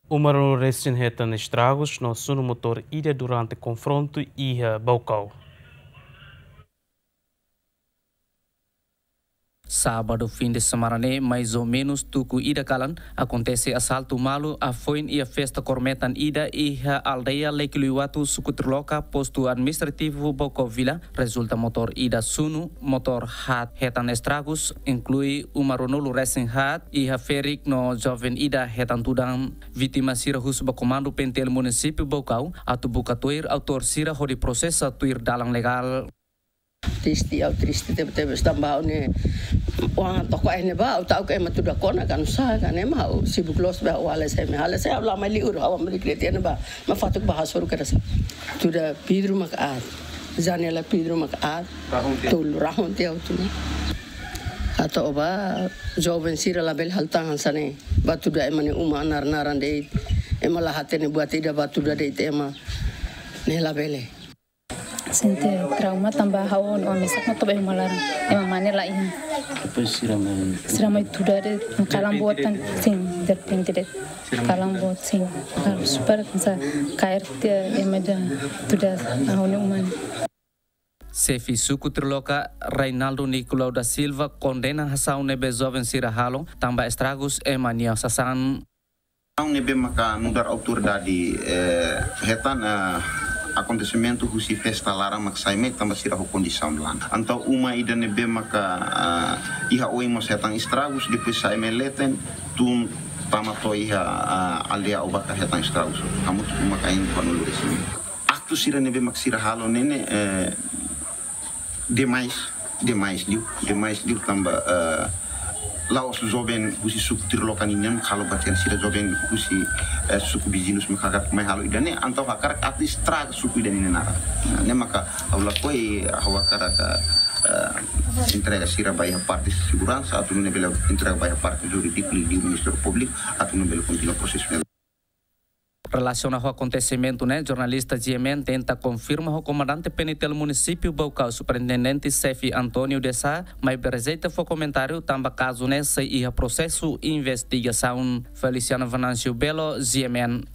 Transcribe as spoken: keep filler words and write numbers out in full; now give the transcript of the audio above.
Uma rua resin hetan estragus no sunu motór ida durante konfrontu iha Baucau. Sábadu fin de semana ne'e, mais ou menus tuku ida kalan, akontese asaltu malu hafoin iha festa kór metan ida iha aldeia Lekiluiwatu, suku Triloka, postu administrativu Baucau Vila, rezulta motór ida sunu, motór haat hetan estragus, inklui uma ruanulu resin haat iha ferik no joven ida hetan tudan. Vítima sira husu ba Komandu P N T L Munisípiu Baucau atu buka tuir autór sira hodi prosesa tuir dalan legál. Triste, ha'u triste tebe-tebes tanba ha'u ne'e, oan toko ai ne'ebá, ha'u ta'uk ema tuda kona ka nusá ka ne'e mak ha'u sibuk loos ba ha'u halo sai, ema halo sai ha'u la mai liur, ha'u mai liur tiha ne'ebá, mak fatuk ba hasoru kedas. Tuda vidru mak aat, janela vidru mak aat, Rahun tiha. Tolu rahun tiha ha'u tunu. Atu ba joven sira labele halo tan hanesan ne'e, ba tuda ema nia uma naran-naran de'it, ema la hatene buat ida ba tuda de'it ema, ne'e labele. Sente trauma tanba ha'u no mesak no toba uma laran. Ema mane la iha. Depois sira mai. Sira mai tuda de'it, kalan boot tan, sin, derrepente de'it. Sira mai kalan tuda. Boot, sin. Kalan super, sa, kaer te, ema ida tuda, ha'u no uma. Xefe suku Triloka, Reinaldo Nicolau da Silva, kondena asaun ne'ebé joven sira halo, tanba estragus ema nia sasán. Asaun ne'ebé maka nu'udar autoridade, eh, hetan, eh, akontesimentu husi festa laran mak sai mai tanba sira ho kondisaun laran. Entaun uma ida ne'ebé maka, eh, iha oin mós hetan estragus, depois sai mai leten, tun tama to'o iha, eh, aldeia Aubaka hetan estragus. Hamutuk uma kain ruanulu resin. Aktu sira ne'ebé mak sira halo ne'e ne'e, eh, demais, demais liu, demais liu tanba, eh, la'ós joven husi suku Triloka nian halo ba tiha, sira joven husi, eh, suku viziñus mak hakarak mai halo ida-ne'e, entaun hakarak atu estraga suku ida-ne'e nia naran. Nah, ne'e maka ha'u lakohi, ha'u hakarak, eh, entrega sira ba iha parte seguransa, atu nune'e bele entrega ba iha parte jurídiku liuliu Ministériu Públiku, atu nune'e bele kontinua prosesu ne'e. Relasiona ho akontesimentu ne'e, jornalista G M N tenta konfirma ho Komandante P N T L Munisípiu Baucau, Superintendente Xefe António de Sá, maibé rejeita fó komentáriu tanba kazu ne'e sei iha prosesu investigasaun. Feliciano Venâncio Belo, G M N.